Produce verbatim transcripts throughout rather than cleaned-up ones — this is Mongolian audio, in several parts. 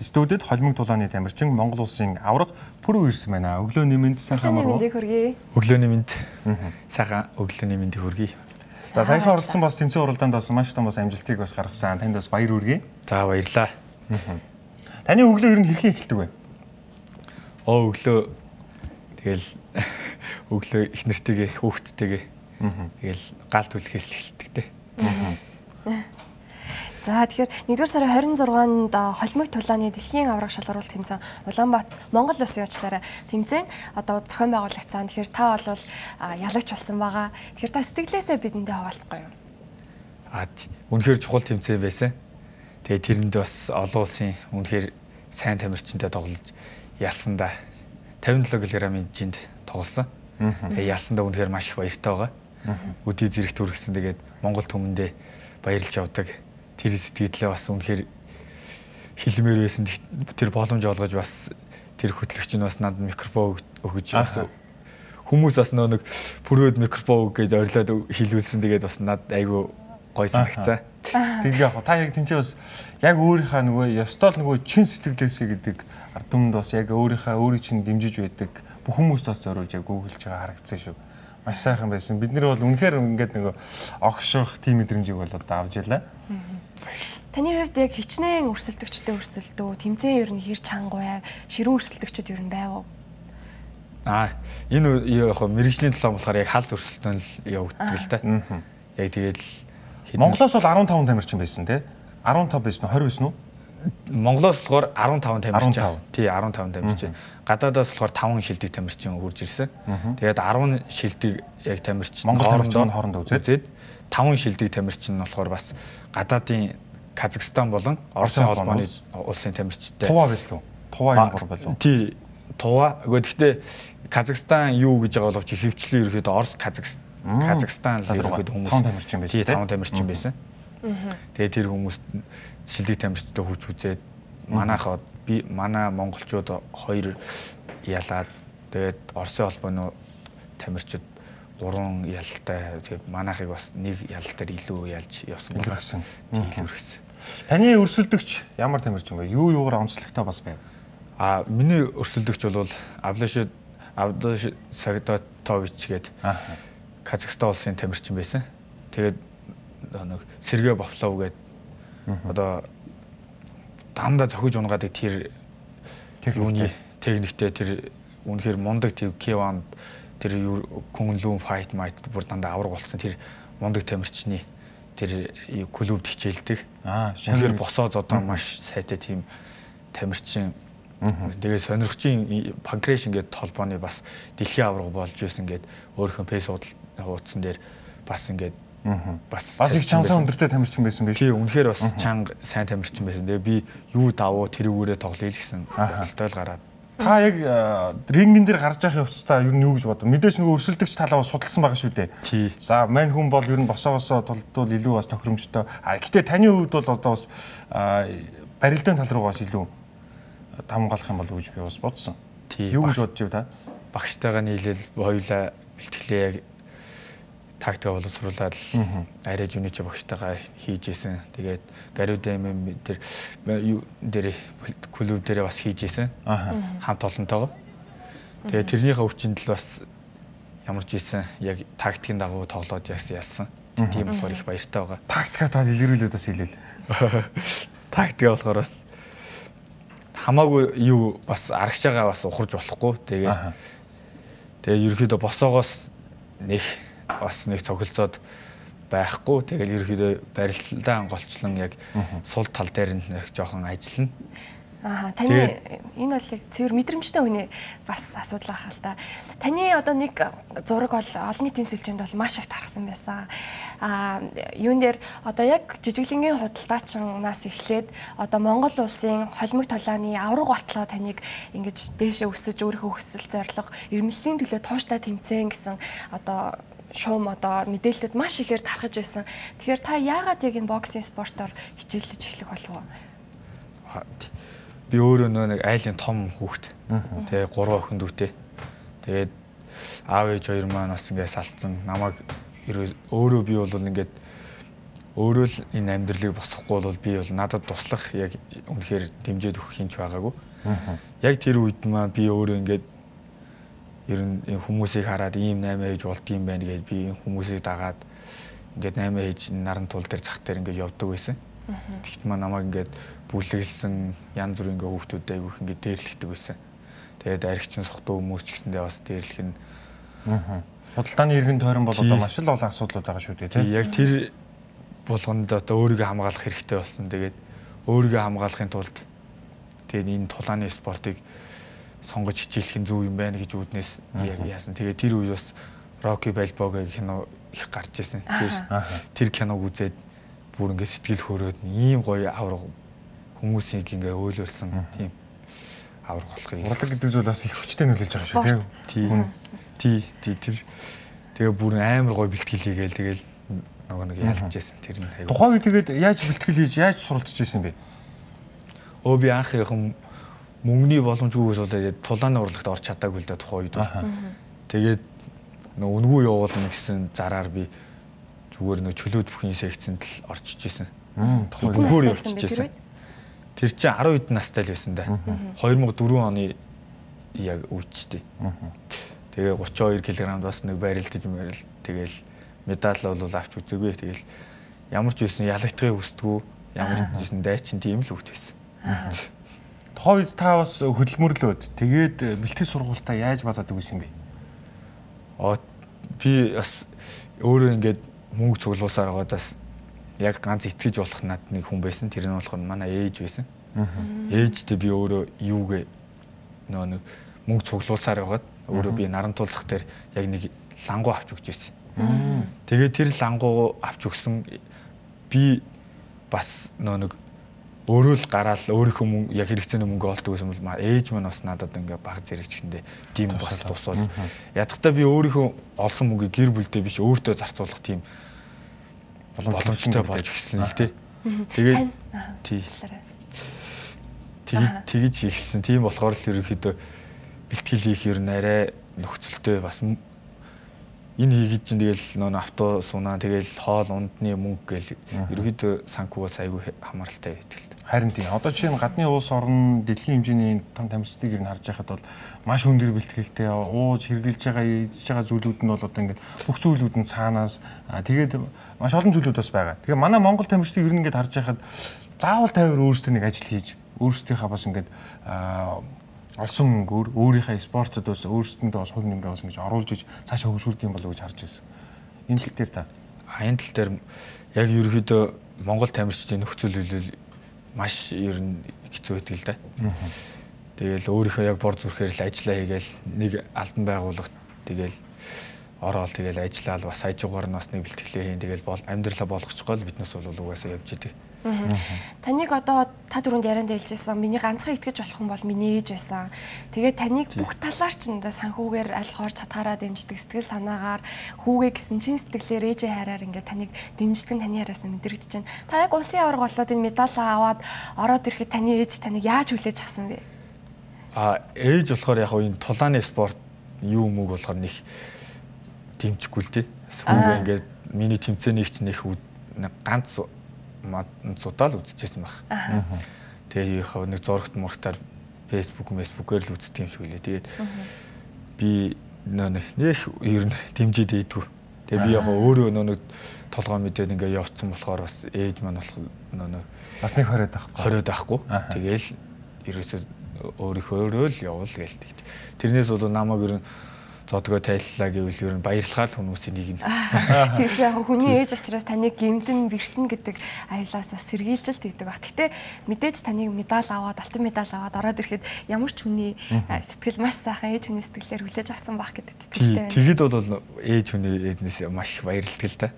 студид холимог тулааны тамирчин Монгол улсын авраг Пүрүү ирсэн байна. Өглөөний мэнд сайхан амаруу. Өглөөний мэнд сайхан өглөөний мэндийг хүргэе. За саяхан оролцсон бас тэмцээн уралдаанд бас маш том бас амжилтыг бас гаргасан. Танд бас баяр хүргэе. За баярлаа. Таны өглөө ер нь хэрхэн эхэлдэг вэ? Оо өглөө тэгэл өглөө их нэртэйгээ хүүхдтэйгээ тэгэл гал түлхээс л эхэлдэг те. За тэгэхээр нэгдүгээр сарын хорин зургаанд холимог тулааны дэлхийн авраг шалгаруулалт тэмцээн Улаанбаатар Монгол улсын явчлаараа тэмцээн одоо зохион байгуулагцсан. Тэгэхээр та бол ялагч болсон байгаа. Тэгэхээр та сэтгэлээсээ бидэндээ хаваалцгаа юу? Аа үнэхээр чухал тэмцээн байсан. Тэгээ тэрэнд бас олон улсын үнэхээр сайн тамирчинтай тоглож ялсан да тавин долоо килограммын жинд тоглосон. Тэгээ ялсандаа үнэхээр маш их баяртай байгаа. Өдий зэрэгт хүргэсэн. Тэгээд Монгол түмэндээ баярлж явдаг. Тэр сэтгэлээ бас үнэхээр хэлмээр байсан. Тэр боломж олгож бас тэр хөтлөгч нь бас надад микрофон өгөж бас хүмүүс бас нэг пүрөөд микрофон гэж орилоод хэлүүлсэн. Тэгээд бас надад айгүй гоё санагцсан. Тэгээд яг та яг тэнцээ бас яг өөрийнхөө нөгөө ёстол нөгөө чин сэтгэлээсээ гэдэг ард түмэнд бас яг өөрийнхөө өөрийг чинь дэмжиж байдаг бүх хүмүүст бас зориулж яг гүйлж байгаа харагдсан шүү. Маш сайхан байсан. Бид нар бол үнэхээр ингээд нөгөө огших тим мэдрэмжийг бол одоо авч ялаа. Таны хувьд яг хичнээн өрсөлдөгчтэй өрсөлдөө, тэмцээн ер нь хэр чанга бай, ширүүн өрсөлдөгчд ер нь байв уу? Аа, энэ яг мэрэгжлийн талаа болохоор яг халд өрсөлдөөн л явагддаг л та. Яг тэгээд Монголоос бол арван таван тамирчин байсан тий? арван тав байсан уу? двадцать байсан уу? Монголоос болохоор арван таван тамирчин. Тий, арван таван тамирчин. Гадаадаас болохоор таван шилдэг тамирчин хурж ирсэн. Тэгээд арван шилдэг яг тамирчин хоорондоо хоорондоо үзээд таван шилдэг тамирчин нь болохоор бас гадаадын Казахстан болон Оросын холбооны улсын тамирчтай. Тува байсан уу? Тува юм гол болов уу? Тий, Тува. Гэхдээ Казахстан юу гэж байгаа боловч хөвчлэн ерөөхдөө Орос Казахстан Казахстан л ерөөхдөө хүмүүс таван тамирчин байсан. Тий, таван тамирчин байсан. Тэгээд тэр хүмүүс шилдэг тамирчтай хүч үзээд манайхаа би манай монголчууд хоёр ялаад тэгээд Оросын холбооны тамирчид гурван ялтай тэгээд манайхыг бас нэг ял дээр илүү ялж явсан гэсэн. Тийм илүү гэсэн. Таны өрсөлдөгч ямар тамирчин вэ? Юу юугаар онцлогтой бас байв? А миний өрсөлдөгч бол Авлаш Авлаш Сагдатович гээд Казахстан улсын тамирчин байсан. Тэгээд нэг Сергей Бафлов гээд одоо дандаа зохиж унгаадаг тэр юуны техниктэй тэр үнэхээр мундаг тэр Кеван тэр Кунлун файт майт бүр дандаа авраг болсон тэр мундаг тамирчны тэр клубд хичээлдэг. Аа, шанхэр босоод одоо маш сайтай тийм тамирчин. Тэгээд сонирхчийн панкреш ингээд толбооны бас дэлхийн авраг болж исэн ингээд өөрийнхөө пейс хуудсан дээр бас ингээд бас бас их чансан өндөртэй тамирчин байсан биш. Тий, үнэхээр бас чанга сайн тамирчин байсан. Тэгээ би юу давуу тэрүүгээрээ тоглоё л гэсэн бодолтой л гараад. Та яг рингэн дээр гарч явах явцдаа юу юу гэж бодов? Мэдээж нөгөө өрсөлдөгч талаа судалсан байгаа шүү дээ. Тий. За, мань хүн бол ер нь босоогосоо тулдвал илүү бас тохиромжтой. А гэтээ таны хувьд бол одоо бас барилдаан тал руу бас илүү тамгалах юм болов уу гэж би бас бодсон. Тий. Юу гэж бодож байв та? Багштайгаа нийлэл хоёулаа бэлтгэлээ яг тактика боловсруулаад арай жунич багштайгаа хийж исэн. Тэгээд Гариудэ эм тэр юу дээр клуб дээр бас хийж исэн. Хамт олонтойгоо. Тэгээд тэрнийхээ өвчнөд л бас ямар ч ийсэн яг тактикийн дагуу тоглоод яасан. Тийм болохоор их баяртай байгаа. Тактика та илэрүүлээд бас хэлээл. Тактика болохоор бас хамаагүй юу бас арагшаага бас ухарж болохгүй. Тэгээд тэгээд ерөөхдөө босоогоос нэг бас нэг цогцолцоод байхгүй. Тэгэл ерөөхдөө барилдаан голчлон яг сул тал дээр нэг жоохон ажиллана. Аа, таны энэ бол яг цэвэр мэдрэмжтэй хүний бас асуудал байх л та. Таны одоо нэг зураг бол олон нийтийн сүлжээнд бол маш их тархсан байсан. Аа, юун дээр одоо яг жижиглэнгийн худалдаачнаас эхлээд одоо Монгол улсын холимог тулааны авраг батлоо таныг ингэж дээшээ өсөж өөрийнхөө өсөл зорилго эрмэлзлийн төлөө тууштай тэмцээн гэсэн одоо шуум одоо мэдээлэлүүд маш ихээр тархаж байсан. Тэгэхээр та яагаад яг энэ боксинг спортоор хичээлж эхлэх болов уу? Би өөрөө нэг айлын том хүүхэд. Тэгээ гурван охин дүүтэй. Тэгээд аав ээж хоёр маань бас ингээд салцсан. Намайг өөрөө би бол ингээд өөрөө л энэ амьдралыг босгохгүй бол би бол надад туслах яг үнэхээр дэмжиж өгөх хинч байгаагүй. Яг тэр үед маань би өөрөө ингээд ер нь хүмүүсийг хараад ийм наймаа хийж болдгийм байх гэж би хүмүүсийг дагаад ингээд наймаа хийж наран тул дээр зах дээр ингээд явдаг байсан. Тэгэхдээ маань намайг ингээд бүлэглсэн янз бүрийн ингээд хүүхдүүд айгүйх ингээд дээрлэгдэг байсан. Тэгээд аригчин сохтуу хүмүүс ч гэсэндээ бас дээрлэх нь худалдааны иргэн тойрон бол одоо маш л олон асуудлууд байгаа шүү дээ тийм. Яг тэр болгонд одоо өөрийгөө хамгаалах хэрэгтэй болсон. Тэгээд өөрийгөө хамгаалахын тулд тэгээд энэ тулааны спортыг сонгож хичээлэх нь зөв юм байна гэж үүднээс яг яасан. Тэгээд тэр үед бас Rocky Balboa гэх кино их гарч ирсэн. Тэр тэр киног үзээд бүр ингээд сэтгэл хөөрөөд ийм гоё авраг хүмүүсийг ингээд өөлөөлсөн тийм авраг болохыг. Урлаг гэдэг зүйл бас их хүчтэй нөлөөлж байгаа шүү тийм. Тий, тий тэр тэгээ бүр амар гоё бэлтгэл хийгээл тэгэл нөгөө нэг ялж байсан тэр нь аягүй. Тухайн үед тэгээд яаж бэлтгэл хийж яаж суралцж ирсэн бэ? Өө би анх яхан мөнгөний боломжгүйгээс болоод тулааны урлагт орч чадаагүй л да тухайн үед. Тэгээд нөгөө үнгүй явуулна гэсэн зараар би зүгээр нөгөө чөлөөт бүхний секцэнд л орчиж ирсэн. Бүгөөр орчиж ирсэн. Тэр чинь арав хэдэн настай л байсан да. две тысячи четыре оны яг үучтэй. Тэгээ тридцать two кг бас нэг барилдаж мэрэл тэгэл медаль бол авч үзээгүй. Тэгэл ямар ч байсан ялагдахыг хүсдэггүй. Ямар ч байсан дайчин тийм л хөвт байсан. Тухайн үед та бас хөдөлмөрлөөд тэгээд бэлтгэл сургуультаа яаж базаадаг байсан бэ? Аа би бас өөрөө ингээд мөнгө цуглуулсаар байгаадаас яг ганц итгэж болох над нэг хүн байсан. Тэр нь болохоор манай ээж байсан. Ээжтэй би өөрөө юугээ нөө нэг мөнгө цуглуулсаар байгаад өөрөө би наран тулах дээр яг нэг лангуу авч өгч байсан. Тэгээд тэр лангуу авч өгсөн би бас нөө нэг өөрөө л гараал өөрийнхөө мөнгө яг хэрэгцээний мөнгө олдог байсан бол ээж маань бас надад ингээ баг зэрэгчэндээ тийм бас тусвал ядахтаа би өөрийнхөө олсон мөнгийг гэр бүлдээ биш өөртөө зарцуулах тийм боломжтой болж гисэн л дээ. Тэгээд тий. Тэгээд тэгж хийсэн. Тийм болохоор л ерөнхийдөө бэлтгэл хийх ер нь арай нөхцөлтэй бас энэ хийгээд чинь тэгэл нөө автобус унаа тэгэл хоол ундны мөнгө гэл ерөнхийдөө санхугаас айгүй хамааралтай байдаг л. Харин тийм. Одоо жишээ нь гадны улс орн дэлхийн хэмжээний том тамирчдыг ер нь харж байхад бол маш өндөр бэлтгэлтэй ууж хэрэгжилж байгаа ийж байгаа зүйлүүд нь бол одоо ингээд бүх зүйлүүд нь цаанаас тэгээд маш олон зүйлүүд бас байгаа. Тэгээ манай Монгол тамирчдыг ер нь ингээд харж байхад заавал тайвар өөрсдөө нэг ажил хийж өөрсдийнхээ бас ингээд олсон мөнгөөр өөрийнхөө спортод бас өөрсдөндөө бас хувь нэмрээ бас ингэж оруулж иж цаашаа хөгжүүлдэг юм болов уу гэж харж байсан. Энэ тал дээр та энэ тал дээр яг ерөөхдөө Монгол тамирчдын нөхцөл үйлдэл маш ер нь хэцүү байдаг л да. Тэгэл өөрийнхөө яг бор зүрхээр л ажиллаа хийгээл нэг албан байгууллагт тэгэл ороод тэгэл ажиллаад бас хажуугаар нь бас нэг бэлтгэлээ хийн тэгэл бол амьдралаа болгочихгоо л биднээс бол угаасаа явж идэг. Таныг одоо та түрүүнд ярианд хэлжсэн миний ганцхан итгэж болох юм бол миний ээж байсан. Тэгээд таныг бүх талаар ч энэ санхүүгээр аль хоор чадхаараа дэмждэг, сэтгэл санаагаар хүүгээ гэсэн чин сэтгэлээр ээжээ хайраар ингээд таныг дэмждэг нь таны яриасаа мэдрэгдэж байна. Та яг улсын аварга болоод энэ медалаа аваад ороод ирэхэд таны ээж таныг яаж хүлээж авсан бэ? А ээж болохоор яг энэ тулааны спорт юу мөг болохоор нэг дэмжихгүй л дээ. Хүүгээ ингээд миний тэмцээнийг ч нэх ганц цудаал үзчихсэн баг. Тэгээ яг нэг зурагт мурагтаар Facebook, Facebook-ээр л үздэг юм шиг үлээ. Тэгээд би нөө нэг ер нь дэмжиж дийдгүү. Тэгээ би яг өөрөө нөө нэг толгой мэдээд ингээ явцсан болохоор бас ээж маань болох нөө бас нэг хориод байхгүй. Хориод байхгүй. Тэгээл ерөөсөө өөрийнхөө өөрөө л явуул гээл. Тэрнээс бол намайг ер нь зодгоо тайллаа гэвэл ер нь баярлахаар л хүмүүсийн нэг нь. Тэгэхээр яг хүний ээж учраас таныг гэмтэн бэртэн гэдэг аялаасаа сэргийлж л тэгдэг баг. Гэтэ мэдээж таныг медаль аваад, алтан медаль аваад ороод ирэхэд ямар ч хүний сэтгэл маш сайхан ээж хүний сэтгэлээр хүлээж авсан баг гэдэг итгэлтэй. Тэгэд бол ээж хүний эднээс маш их баярлдаг л та.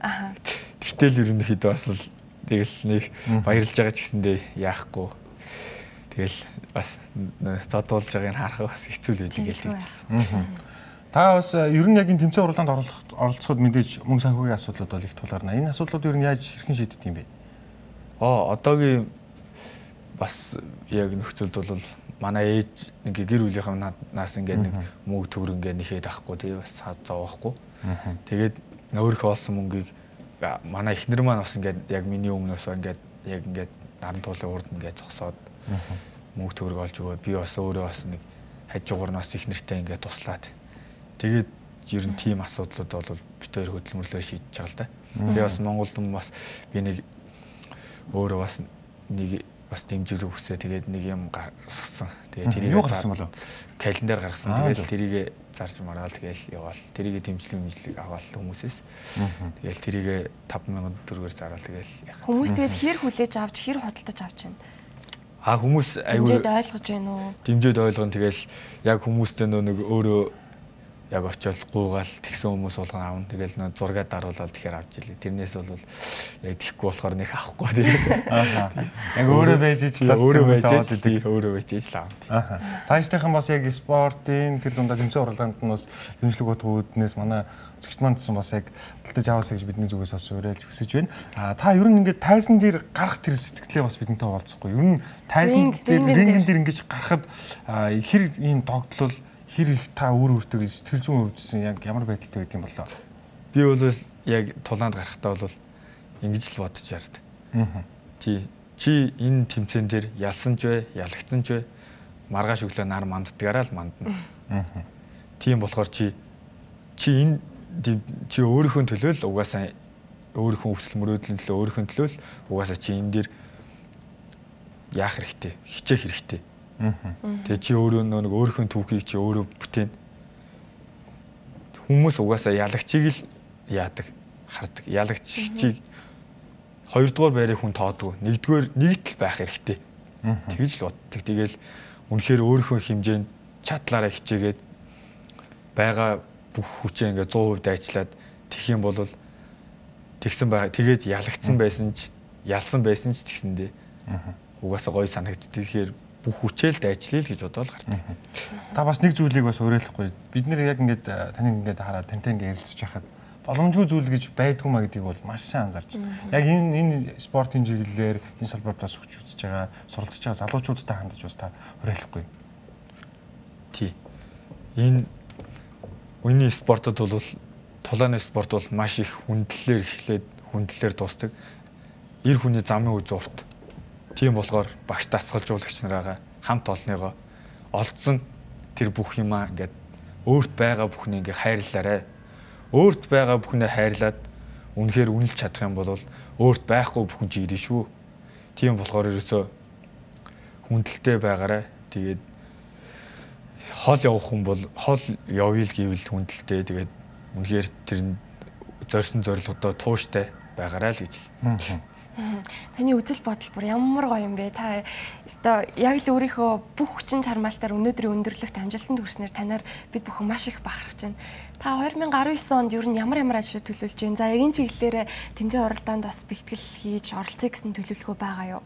Тэгтэл ер нь хэд бас л тэгэл нэг баярлж байгаа ч гэсэндээ яахгүй. Тэгэл бас зодуулж байгааг харах бас хэцүү л байдаг л тэгж. Та бас ер нь яг энэ тэмцээн уралдаанд оролцоход мэдээж мөнгө санхүүгийн асуудлууд бол их тулгарна. Энэ асуудлууд ер нь яаж хэрхэн шийддэг юм бэ? Аа одоогийн бас яг нөхцөлд бол манай ээж нэг гэр бүлийнхээ наас ингээд нэг мөнгө төгрөг ингээд нэхэд авахгүй тэгээ бас зовоохгүй. Тэгээд өөрийнхөө олсон мөнгийг манай эхнэр маань бас ингээд яг миний өмнөөс ингээд яг ингээд наран туулын урд ингээд зогсоод мөнгө төгрөг олж өгөө. Би бас өөрөө бас нэг хажуугаар нас эхнэртэй ингээд туслаад. Тэгээд ер нь тийм асуудлууд бол бид хоёр хөдөлмөрлөө шийдэж байгаа л да. Тэгээ бас Монголд бас би нэг өөрөө бас нэг бас дэмжлэг хүсээ тэгээд нэг юм гаргасан. Тэгээд тэрийг гаргасан болов. Календар гаргасан. Тэгээд тэрийг зарж мараал тэгээд яваал. Тэрийг дэмжлэг дэмжлэг аваал хүмүүсээс. Тэгээд тэрийг таван мянган төгрөгөөр зараал тэгээд яхаа. Хүмүүс тэгээд хэр хүлээж авч хэр худалдаж авч байна. А хүмүүс аюу дэмжиж ойлгож байна уу? Дэмжиж ойлгоно тэгээд яг хүмүүстэй нэг өөрөө яг очиод гуугаал тэгсэн хүмүүс болгон аавн тэгэл нөө зургаад даруулаад тэгэхээр авч илээ. Тэрнээс бол яг тэхгүй болохоор нэг авахгүй тийм. Аа. Яг өөрөө байж ижлээ. Өөрөө байж ижлээ. Өөрөө байж ижлээ аав. Аа. Цаашдынхан бас яг спортын тэр дундаа тэмцээн уралдаанд нь бас дэмжлэг утгууднаас манай зэгт мандсан бас яг талтаж аваасаа гэж бидний зүгээс бас уриалж хүсэж байна. Аа та ер нь ингээд тайсан дээр гарах тэр сэтгэлээ бас бидэнтэй хуваалцахгүй. Ер нь тайсан дээр рингэн дээр ингэж гарахад хэр ийм догтлол хэр их та өөр өөртөө сэтгэл зүйн хөвжсөн яг ямар байдалтай байд юм болоо. Би бол яг тулаанд гарахтаа бол ингэж л бодож ярд. Аа. Тий. Чи энэ тэмцээн дээр ялсан ч вэ, ялагдсан ч вэ маргааш өглөө нар манддгаараа л мандна. Аа. Тийм болохоор чи чи энэ чи өөрийнхөө төлөө л угаасаа өөрийнхөө өвсөл мөрөөдлийн төлөө өөрийнхөө төлөө л угаасаа чи энэ дээр яах хэрэгтэй, хичээх хэрэгтэй. Тэгээ чи өөрөө нэг өөрийнхөө түүхийг чи өөрөө бүтээн. Хүмүүс угаасаа ялагчийг л яадаг, хардаг. Ялагчийг хоёрдугаар байрыг хүн тоодгүй. Нэгдүгээр нэгдэл байх хэрэгтэй. Тэгж л боддог. Тэгэл үнэхээр өөрийнхөө хэмжээнд чадлаараа хичээгээд байгаа бүх хүчээ ингээ сто процент дайчлаад тэгэх юм бол тэгсэн байгаа. Тэгээд ялагдсан байсан ч, ялсан байсан ч тэгсэндээ угаасаа гоё санагддаг. Тэгэхээр бүх хүчээл дайчлаа л гэж бодоод гардаг. Та бас нэг зүйлийг бас уриалахгүй. Бид нэр яг ингээд таныг ингээд хараад тантай ингээд ярилцж байхад боломжгүй зүйл гэж байдгүй маа гэдгийг бол маш сайн анзаарч. Яг энэ энэ спортын чиглэлээр энэ салбарт бас хүч үзэж байгаа, суралцж байгаа залуучуудтай хандаж бас та уриалахгүй. Тий. Энэ үеийн спортод бол тулааны спорт бол маш их хүндлэлээр эхлээд хүндлэлээр дуустдаг. Эр хүний замын үе зурт. Тийм болохоор багш дасгалжуулагч нараа хамт олныгоо олдсон тэр бүх юмаа ингээд өөрт байгаа бүхнийг ингээд хайрлаарай. Өөрт байгаа бүхнээ хайрлаад үнэхээр үнэлж чадах юм бол өөрт байхгүй бүхэн чи ирнэ шүү. Тийм болохоор ерөөсөө хүндэлтэй байгаарай. Тэгээд хол явах хүн бол хол явъя л гэвэл хүндэлтэй. Тэгээд үнэхээр тэр зорьсон зорилгодоо тууштай байгаарай л гэж. Таны үзэл бодол бүр ямар гоё юм бэ? Та өстой яг л өөрийнхөө бүх хүчин чармаалтаар өнөөдрийн өндөрлөгт амжилтанд хүрснээр танаар бид бүхэн маш их бахархаж байна. Та две тысячи десять онд ер нь ямар ямар ажил төлөвлөж байна? За яг энэ чиглэлээр тэмцээн уралдаанд бас бэлтгэл хийж оролцъё гэсэн төлөвлөгөө байгаа юу?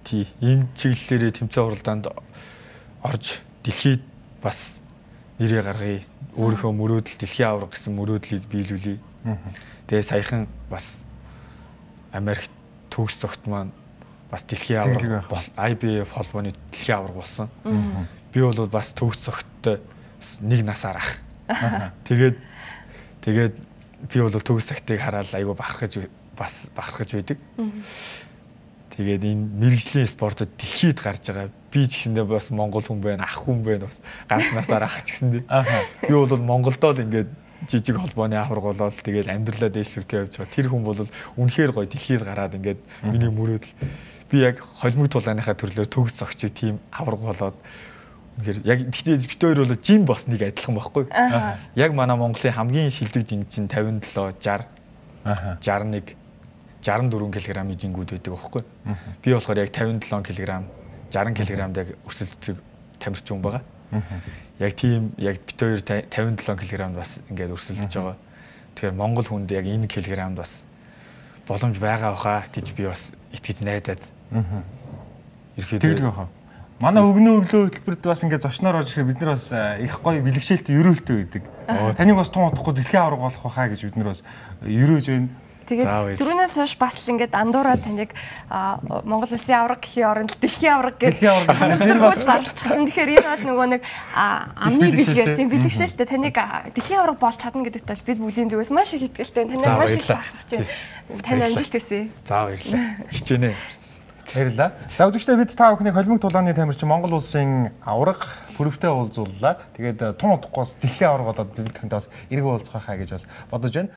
Тий, энэ чиглэлээр тэмцээн уралдаанд орж дэлхийд бас нэрээ гаргая. Өөрийнхөө мөрөөдөл дэлхийн авраг гэсэн мөрөөдлийг биелүүлье. Тэгээ саяхан бас Америк төгс зогт маань бас дэлхийн авраг бол ай би эф холбооны дэлхийн авраг болсон. Би бол бас төгс зогттой нэг насаар ах. Тэгээд тэгээд би бол төгс цагтыг хараад айгүй бахархаж бас бахархаж байдаг. Тэгээд энэ мэрэгжлийн спортод дэлхийд гарч байгаа. Би ч гэсэндээ бас монгол хүн байна, ах хүн байна бас ганц насаар ах ч гэсэндээ. Би бол Монголдоо л ингээд жижиг холбооны авраг болоод тэгээд амьдралаа дээшлүүлэхээ явж байгаа. Тэр хүн бол үнэхээр гоё дэлхийд гараад ингээд миний мөрөөдөл. Би яг холимог тулааныхаа төрлөөр төгс зогчий тийм авраг болоод үнэхээр яг тэгтээ бит хоёр бол жим бас нэг адилхан байхгүй. Яг манай Монголын хамгийн шилдэг жин чинь пятьдесят seven, sixty, sixty-one, sixty-four кг-ийн жингүүд байдаг байхгүй. Би болохоор яг пятьдесят seven кг, sixty кг-д яг өрсөлддөг тамирчин хүн байгаа. Яг тийм яг бит хоёр пятьдесят seven кг-д бас ингээд өрсөлдөж байгаа. Тэгэхээр Монгол хүнд яг энэ кг-д бас боломж байгаа баха гэж би бас итгэж найдаад. Ирэхэд тэгдэг баха. Манай өгнөө өглөө хөтөлбөрт бас ингээд зочноор орж ирэхэд бид нар бас их гоё бэлгшээлтэй ерөөлтэй байдаг. Таныг бас тун удахгүй дэлхийн авраг болох байхаа гэж бид нар бас ерөөж байна. Тэгээд түрүүнээс хойш бас л ингээд андуураа таныг Монгол Улсын авраг гэхийн оронд дэлхийн авраг гэж зарлчихсан. Тэгэхээр энэ бол нөгөө нэг амны бэлгээр тийм бэлгшээлтэй таныг дэлхийн авраг болж чадна гэдэгт бол бид бүгдийн зүгээс маш их итгэлтэй. Таныг маш их бахархаж байна. Тань амжилт хүсье. За баярлалаа. Хичээнэ. Баярлалаа. За үзэгчдээ бид та бүхний холимог тулааны тамирчин Монгол Улсын авраг бүрөвтэй уулзууллаа. Тэгээд тун удахгүй бас дэлхийн авраг болоод бид бүхэнд бас эргэн уулзах хаа гэж бас бодож байна.